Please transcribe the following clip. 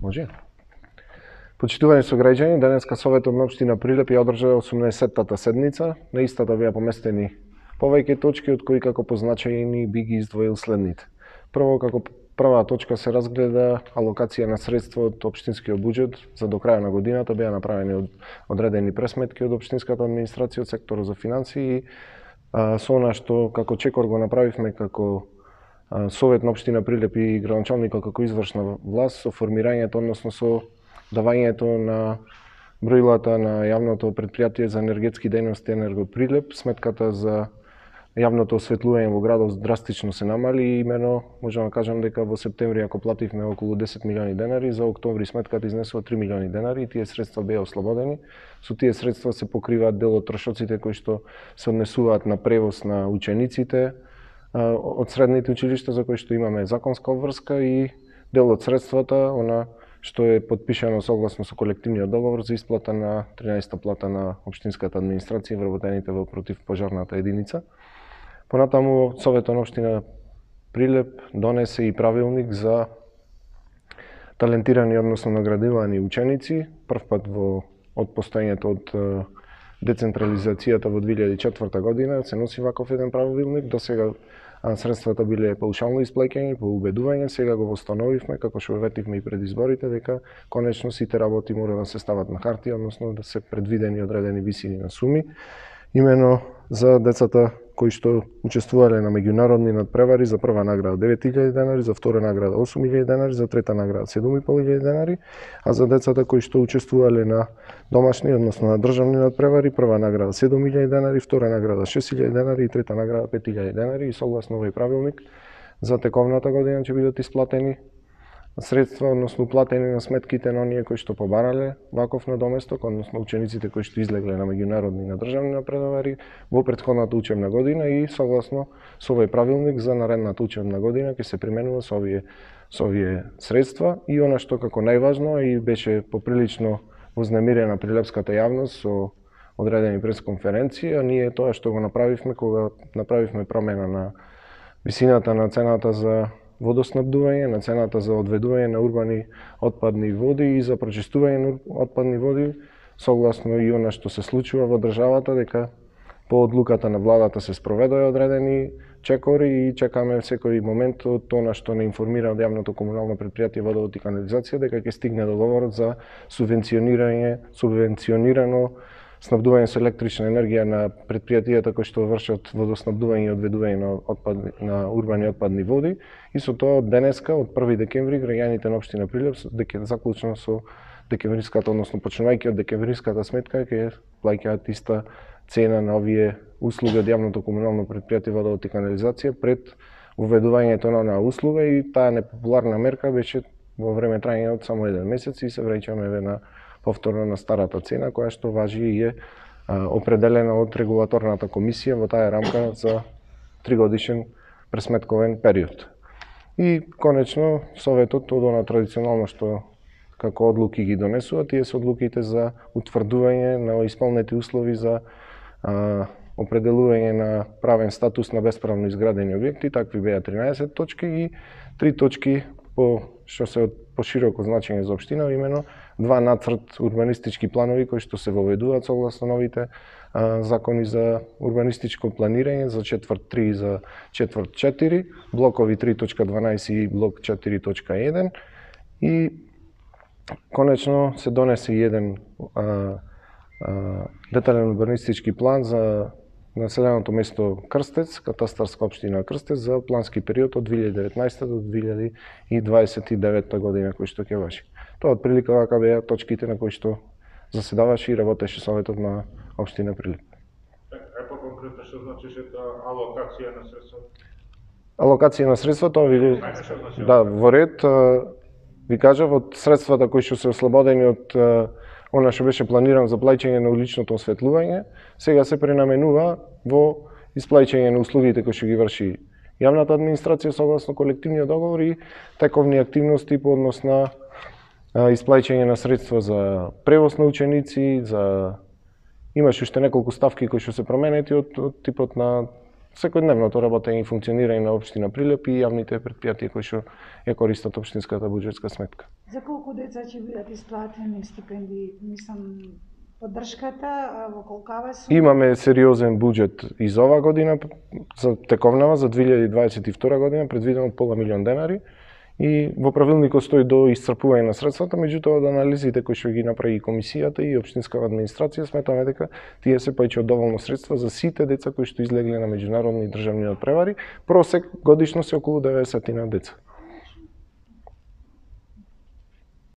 Може. Почитувани сограѓани, денеска Советот на општина Прилеп ја одржа 80-тата седница. На истата беа поместени повеќе точки, од кои како позначајни би ги издвоил следните. Прво, како прва точка се разгледа алокација на средства од општинскиот буџет за до крај на годината. Беа направени одредени пресметки од општинската администрација, од секторот за финансии и со она што како чекор го направивме како Совет на општина Прилеп и градоначалникот како извршна власт со формирањето, односно со давањето на броилата на јавното претпријатие за енергетски дејности Енерго Прилеп. Сметката за јавното осветлување во градот драстично се намали и имено можам да кажам дека во септември ако плативме околу 10 милиони денари, за октомври сметката изнесува 3 милиони денари и тие средства беа ослободени. Со тие средства се покриваат дел од трошоците кои што се однесуваат на превоз на учениците од средните училишта за кои што имаме законска обврска и дел од средствата она што е подпишано согласно со колективниот договор за исплата на 13-та плата на општинската администрација и вработените во противпожарната единица. Понатаму Советот на општина Прилеп донесе и правилник за талентирани, односно наградувани ученици. Првпат од постоењето од децентрализацијата во 2004 година се носи ваков еден правилник. До сега средствата биле паушално исплаќани по убедување, сега го восстановивме, како што ветивме и пред изборите, дека конечно сите работи мора да се стават на хартија, односно да се предвидени одредени висини на суми, имено за децата кои што учествувале на меѓународни надпревари. За прва награда 9.000 денари, за втора награда 8.000 денари, за трета награда 7.500 денари, а за децата кои што учествувале на домашни, односно на државни надпревари, прва награда 7.000 денари, втора награда 6.000 денари и трета награда 5.000 денари. И согласно овој правилник за тековната година ќе бидат исплатени средства, односно платени на сметките на оние кои што побарале ваков надоместок, односно учениците кои што излегле на меѓународни и на државни надпревари во претходната учебна година и согласно со овој правилник за наредната учебна година ќе се применува со овие средства. И она што како најважно и беше поприлично вознемирена прилепската јавност со одредени пресконференции, а ние тоа што го направивме кога направивме промена на висината на цената за водоснабдување, на цената за одведување на урбани отпадни води и за прочистување на отпадни води, согласно и она што се случува во државата, дека по одлуката на владата се спроведоа одредени чекори и чекаме секој момент од она што не информира од јавното комунално претпријатие Водовод и канализација дека ќе стигне договорот за субвенционирано снабдување со електрична енергија на претпријатијата кои што вршат водоснабдување и одведување на урбани отпадни води. И со тоа од денеска, од 1 декември, граѓаните на општина Прилеп, заклучно со декемвриската, односно почнувајќи од декемвриската сметка, ќе плаќаат иста цена на овие услуги од јавното комунално претпријатие Водовод и канализација пред уведувањето на онаа услуга. И таа непопуларна мерка беше во време трајање од само 1 месец и се враќаме на повторно на старата цена, која што важи и е определена од регулаторната комисија во таа рамка за 3-годишен пресметковен период. И конечно Советот од она традиционално што како одлуки ги донесува, тие се одлуките за утврдување на исполнети услови за определување на правен статус на бесправно изградени објекти. Такви беа 13 точки и 3 точки што се од пошироко значење за општина, имено 2 нацрт урбанистички планови кои што се воведуваат согласно новите закони за урбанистичко планирање за четврт 3 и за четврт 4, блокови 3.12 и блок 4.1 и конечно се донесе еден детален урбанистички план за населеното место Крстец, катастарска општина Крстец за плански период од 2019 до 2029 година кој што ќе важи. Тоа отприлика вака беа точките на кои што заседаваше и работеше Советот на општина Прилеп. По-конкретно што значеше алокација на средства? Алокација на средства, тоа ви во ред ви кажав, од средствата кои што се ослободени од она што беше планирано за плаќање на уличното осветлување, сега се пренаменува во исплаќање на услугите кои што ги врши јавната администрација согласно колективниот договор и тековни активности по однос на исплаќање на средства за превоз на ученици, за имаше уште неколку ставки кои што се променети од типот на секојдневното работење и функционирање на општина Прилеп и јавните претпријатија кои што ја користат општинската буџетска сметка. За колку деца ќе бидат исплатени стипендии? Мислам, поддршката во колкава сума? Имаме сериозен буџет и за оваа година, за тековнава, за 2022 година, предвидено од пола милион денари. И во правилникот стои до исцрпување на средствата, меѓутоа од анализите кои што ги направи и комисијата и општинската администрација, сметаме дека тие се повеќе од доволно средства за сите деца кои што излегле на меѓународни и државни надпревари. Просек годишно се околу 90 деца.